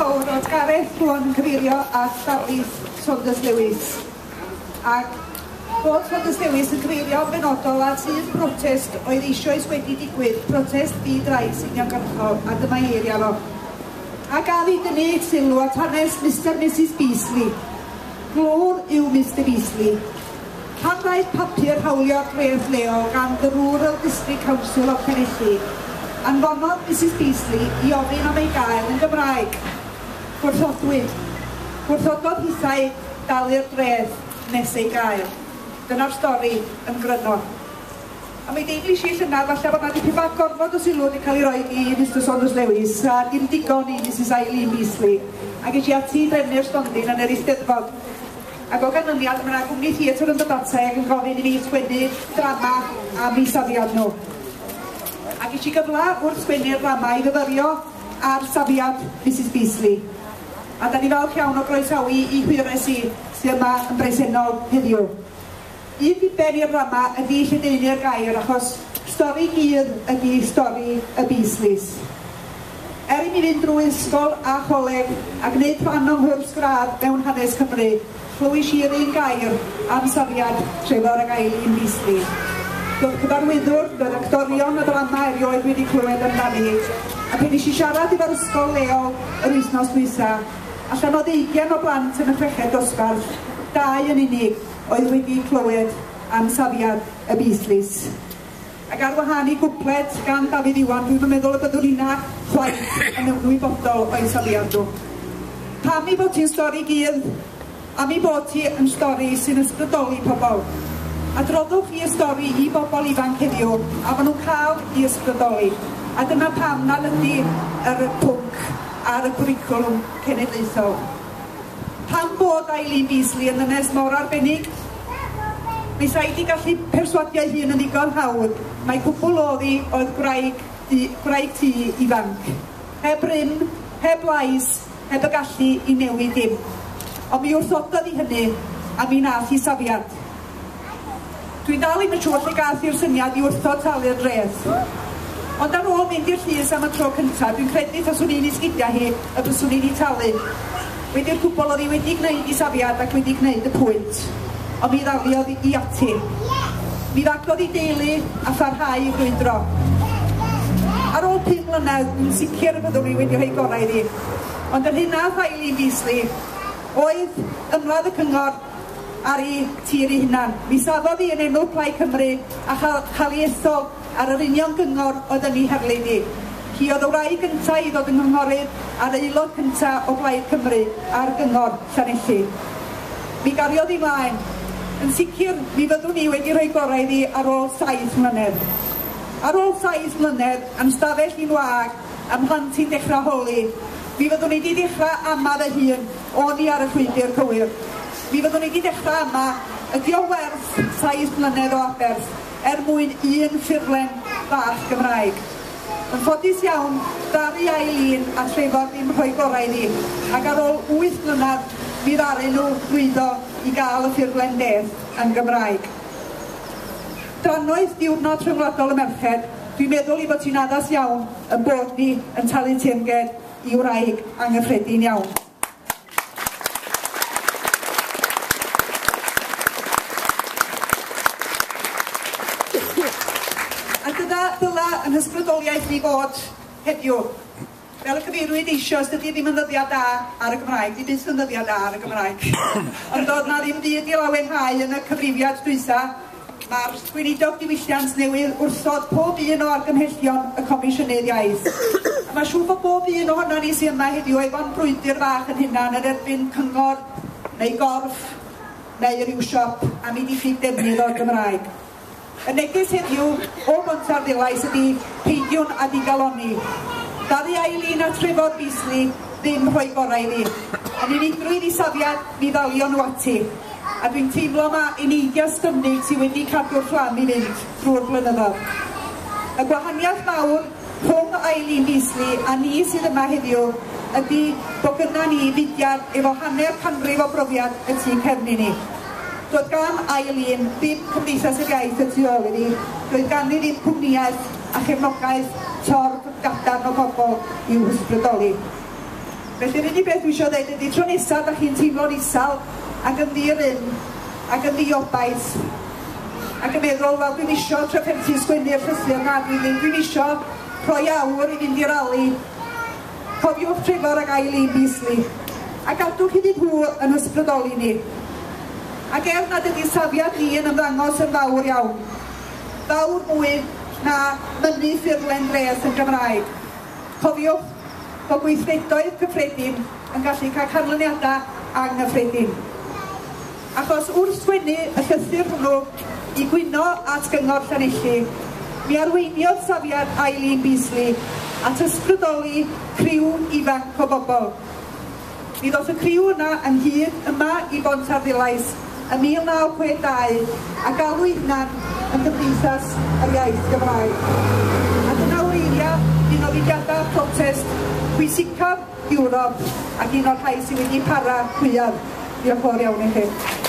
fawr oedd Gareth rwan yn cyfeirio at ddarlith Saunders Lewis. Ac bod Saunders Lewis yn cyfeirio yn benodol at un protest oedd eisoes wedi digwydd, protest ddi-drais uniongyrchol, a dyma ei eiriau fo. A gaf i dynnu sylw at hanes Mr Mrs Beasley. Glwr yw Mr Beasley. Pan ddaeth papur hawlio'r dref leol gan The Rural District Council of Llanelli, anfonodd Mrs Beasley i ofyn am ei gael yn Gymraeg. Gwrthodwyd. Gwrthododd hithau dalu'r dreth nes ei gael. Dyna'r stori yn gryno. A mi deimlis i llynedd falle bod 'na dipyn bach gormod o sylw wedi cael ei roi i Mr Saunders Lewis a dim digon i Mrs Eileen Beasley. A ges i ati i drefnu'r stondin yn yr Eisteddfod. Ac o ganlyniad mae yna gwmni theatr yn dod ata i ac yn gofyn i fi sgwennu drama am eu safiad nhw. A ges i gyfle wrth sgwennu'r ddrama i fyfyrio ar safiad Mrs Beasley. A da ni falch iawn o groesawu i hwyres i sydd yma yn bresennol heddiw. Un diben i'r ddrama ydy lledaenu'r gair achos stori gudd ydy stori y Beasleys. Er i mi fynd drwy ysgol a choleg a gwneud rhan o'm nghwrs gradd mewn hanes Cymru, chlywis i'r un gair am safiad Trefor ac Eileen Beasley. Doedd cyfarwyddwr, doedd actorion y ddrama erioed wedi clywed amdani, a pan nes i siarad efo'r ysgol leol yr wythnos dwytha, allan o 20 o blant yn y chweched dosbarth, 2 yn unig oedd wedi clywed am safiad y Beasleys. Ac ar wahân i gwpled gan Dafydd Iwan, dwi'm yn meddwl y byddwn ni'na chwaith yn ymwybodol o'i safiad nhw. Pam ei bod hi'n stori gudd? Am ei bod hi yn stori sy'n ysbrydoli pobl. Adroddwch chi y stori i bobl ifanc heddiw, a maen nhw'n cael i ysbrydoli. A dyna pam nad ydy yr pwnc ar y cwricwlwm cenedlaethol. Pam bod Eileen Beasley yn ddynes mor arbennig? Mi sa i 'di gallu perswadio ei hun yn ddigon hawdd mai cwbl o'dd hi oedd gwraig gwraig tŷ ifanc. Heb rym, heb lais, heb y gallu i newid dim. Ond mi wrthododd hi hynny, a mi nath hi safiad. Dwi'n dal ddim yn siŵr lle gath hi'r syniad i wrthod talu'r dreth. Ond ar ôl mynd i'r llys am y tro cynta, dwi'n credu taswn i'n ei sgidia hi y byswn i 'di talu. Wedi'r cwbl o'dd hi wedi gneud 'i safiad ac wedi gneud y pwynt. Ond mi ddaliodd i ati. Mi fagodd 'i deulu a pharhau i frwydro. Ar ôl 5 mlynedd, dwi'n sicr y byddwn i wedi rhoi gorau iddi. Ond yr hyn nath Eileen Beasley oedd ymladd y cyngor ar ei tir ei hunan. Mi safodd hi yn enw Plaid Cymru a chael ei ethol ar yr union gyngor oedd yn ei herlid hi. Hi oedd y wraig gyntaf i ddod yn gynghorydd a'r aelod cyntaf o Blaid Cymru ar gyngor Llanelli. Mi gariodd hi mlaen. Yn sicr, mi fyddwn i wedi rhoi gorau iddi ar ôl 7 mlynedd. Ar ôl 7 mlynedd, a'm stafell i'n wag, a'm mhlant i'n dechrau holi, mi fyddwn i 'di dechrau ama fy hun, o'n i ar y llwybr cywir. Mi fyddwn i 'di dechrau ama, ydi o werth 7 mlynedd o aberth er mwyn un ffurflen fach Gymraeg? Yn ffodus iawn, ddaru Eileen a Trefor ddim rhoi gorau iddi, ac ar ôl 8 mlynedd mi ddaru nhw lwyddo i gael y ffurflen death yn Gymraeg. Drannoeth Diwrnod Rhyngwladol y Merched, dwi'n meddwl ei bod hi'n addas iawn yn bod ni yn talu teyrnged i wraig anghyffredin iawn. A dyna ddyla yn hysbrydoliaeth ni fod heddiw. Fel y cyfeiriwyd eisoes, dydy ddim yn ddyddiad da ar y Gymraeg, di byth yn ddyddiad da ar y Gymraeg. Ond doedd na ddim byd i lawenhau yn y cyfrifiad dwytha. Mae'r Gweinidog Diwylliant newydd wrthod pob un o argymhellion y Comisiynydd Iaith. A mae'n siŵr bod bob un ohonon ni sydd yma heddiw efo'n brwydr fach yn hunan yn erbyn cyngor neu gorff neu ryw siop am ei diffyg defnydd o'r Gymraeg. Y neges heddiw o Bontarddulais ydy peidiwn â digalonni. Ddaru Eileen a Trefor Beasley ddim rhoi gorau iddi. Yn unigrwydd i safiad, mi ddalion nhw ati. A dwi'n teimlo ma eneidiau styfnig sydd wedi cadw'r fflam i fynd drwy'r blynyddoedd. Y gwahaniaeth mawr rhwng Eileen Beasley a ni sydd yma heddiw ydy bod gynna ni fudiad efo hanner canrif o brofiad y tu cefn i ni. Doedd gan Eileen ddim Cymdeithas yr Iaith y tu ôl iddi, doedd ganddi ddim cwmnïaeth a chefnogaeth torf gadarn o bobl i'w hysbrydoli. Felly'r unig beth dwi eisiau dweud ydy tro nesaf da chi'n teimlo'n isal ac yn ddi-rym ac yn ddiobaith ac yn meddwl, wel, dwi'm isio trafferthu sgwennu'r llythyr 'na, dwi ddim, dwi'm isio rhoi awr i fynd i rali. Cofiwch Trefor ac Eileen Beasley, a gadwch iddyn nhw yn ysbrydoli ni. Ac er nad ydy safiad ni yn ymddangos yn fawr iawn, fawr mwy na mynnu ffurflen dreth yn Gymraeg, cofiwch bod gweithredoedd cyffredin yn gallu cael canlyniadau anghyffredin. Achos wrth sgwennu y llythyr hwnnw i gwyno at Gyngor Llanelli, mi arweiniodd safiad Eileen Beasley at ysbrydoli criw ifanc o bobl. Mi ddoth y criw yna ynghyd yma i Bontarddulais ym 1962 a galw eu hunan yn Gymdeithas yr Iaith Gymraeg. A dyna wreiddiau un o fudiadau protest pwysicaf Ewrop ac un o'r rhai sydd wedi para fwyaf. Diolch yn fawr iawn i chi.